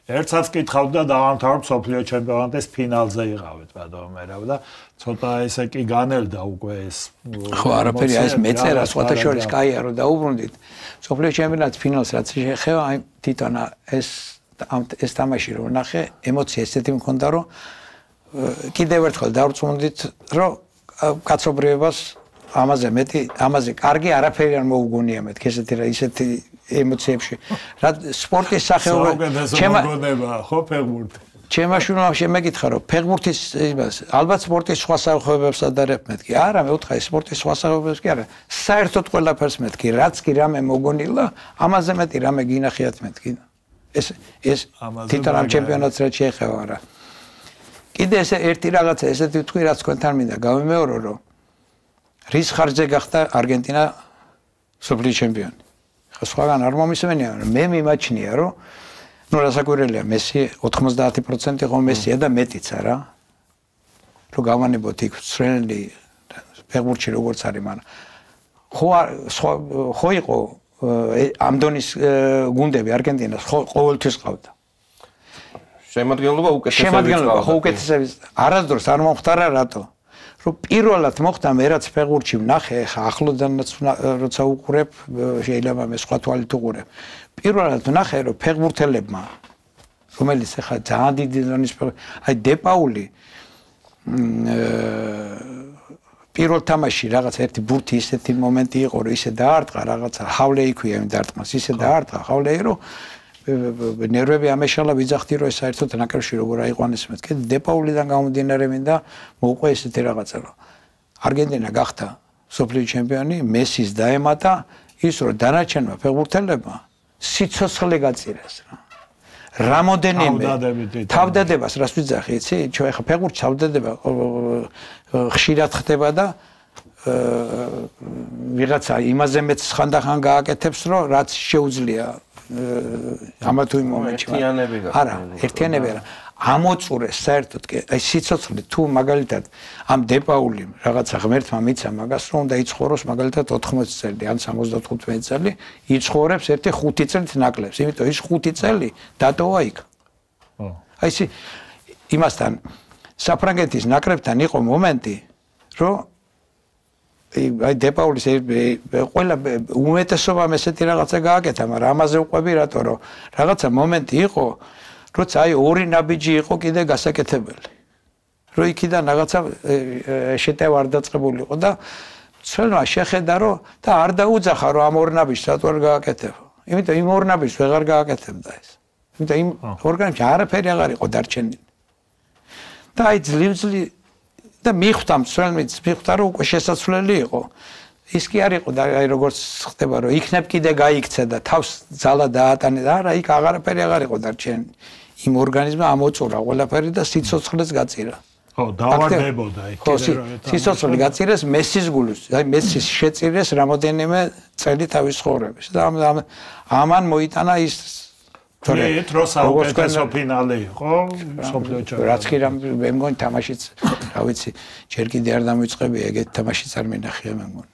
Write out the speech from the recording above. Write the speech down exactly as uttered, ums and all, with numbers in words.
ერთსაც კითხავთ და დავამთავრებ სოფლიო ჩემპიონატის ფინალზე იყავით ბატონო მერაბ და ცოტა ესე კი განელდა უკვე ეს ხო არაფერი ეს მეწერა სხვათა შორის კაია რომ დაუბრუნდით სოფლიო ჩემპიონატის ფინალს რაც შეეხება აი თვითონ ეს ეს თამაში რომ ნახე ემოცია ესეთი მქონდა რომ კიდევ ერთხელ დავწუნდით რომ კაცობრიობას ამაზე მეტი ამაზე კარგი არაფერი არ მოუგონია მეთქი ესეთი რა ისეთი ემოციებში რა სპორტის სახეობა ჩემა ხო ფეხბურთი ჩემა შვილმა მეკითხა რომ ფეხბურთის იმას ალბათ სპორტის სხვა სახეობებს ადარებ მეთქი არა მე ვთხარი სპორტის სხვა სახეობებს კი არა საერთოდ ყველაფერს მეთქი რაც კი რამე მოგონილა ამაზე მეტი რამე გინახიათ მეთქი ეს ეს თვითონ ამ ჩემპიონატს რაც შეეხება რა კიდე ესე ერთი რაღაცა ესეთი ვთქვი რაც თქვენთან მინდა გავიმეორო რომ რის ხარჯზე გახდა არგენტინა სოფლიო ჩემპიონი ხო სხვაგან არ მომისმენია მე მიმაჩნია რომ ნუ რასაკვირველია მესი ოთხმოცდაათი პროცენტი ხო მესია და მეტიც არა რომ გავანებოთ იქ სრელი ფეხბურთში როგორც არის მაგრამ ხო ხო იყო ამ დონის გუნდები არგენტინას ყოველთვის ყავდა შემადგენლობა უკეთესად შემადგენლობა ხო უკეთესად არასდროს არ მომختარა რატო რომ პირველად მოხდა მე რაც ფეხბურთში ვნახე ხა ახლოდანაც როცა უყურებ შეიძლება მე სხვა თვალით უყურებ პირველად ვნახე რომ ფეხბურთელებმა რომელიც ხა ძალიან დიდი ზონის აი დეპაული პირველ თამაში რაღაც ერთი ბურთი ისეთი მომენტი იყო რომ ისე დაარტყა რაღაცა ჰავლე იქვია იმ დარტყმას ისე დაარტყა ჰავლე რომ ნერვები ამეშალა ვიძახდი რომ ეს საერთოდ ნაკრებში როგორ აიყვანეს მეთქი დეპაულიდან გამომდინარე მინდა მოუყვე ესეთი რაღაცა რომ არგენტინა გახდა სოფლიო ჩემპიონი მესის დაემატა ის რომ დანარჩენმა ფეხბურთელებმა სიცოცხლე გაწირეს რა რამოდენიმე თავდადებას რას ვიძახი იცი ჩვენ ხა ფეხბურთში თავდადება ხშირად ხდება და ვიღაცა იმაზე მეც ხანდახან გააკეთებს რომ რაც შეუძლია ამა თუ იმ მომენტში არა ერთიანები არა ამოწურეს საერთოდ აი სიცოცხლე თუ მაგალითად ამ დეპაული რაღაცა ღმერთმა მიცა მაგას რომ უნდა იცხოვროს მაგალითად ოთხმოცი წელი ან სამოცდათხუთმეტი წელი იცხოვრებს ერთი ხუთი წელით ნაკლებს იმიტომ ის ხუთი წელი დატოვა იქ აი ისი იმასთან საფრანგეთის ნაკრებთან იყო მომენტი რომ აი დეპაულის ყველა უმეტესობამ ესეთი რაღაცა გააკეთა მაგრამ ამაზე უყვები რატო რომ რაღაცა მომენტი იყო როცა აი ორი ნაბიჯი იყო კიდე გასაკეთებელი რომ იქიდან რაღაცა შეტევა არ დაწყებული იყო და ცელმა შეხედა რომ და არ დაუძახა რომ ამ ორ ნაბიჯს რატო არ გააკეთებო იმიტომ იმ ორ ნაბიჯს ვეღარ გააკეთებდა ეს იმიტომ იმ ორგანიზმში არაფერი აღარ იყო დარჩენილი და აი ძლივძლივ და მიხვდა მცველმიც მიხვდა რომ უკვე შესაძლებელი იყო ის კი არ იყო და აი როგორც ხდება რომ იქნებ კიდე გაიქცა და თავს ძალა დაატანე და არა იქ აღარაფერი აღარ იყო დარჩენილი იმ ორგანიზმმა ამოწურა ყველაფერი და სიცოცხლეც გაწირა ხო დავარდებოდა იქ კიდე სიცოცხლე გაწირეს მესის გულს აი მესის შეწირეს რამოდენიმე წელი თავის ცხოვრების და ამან მოიტანა ის თორე დროს საუკეთესო ფინალი იყო სოფლიო ჩემპიონატში რაც კი მე მგონი თამაშიც რა ვიცი ჯერ კიდე არ დამიწყებია ეგეთ თამაშიც არ მინახია მე მგონი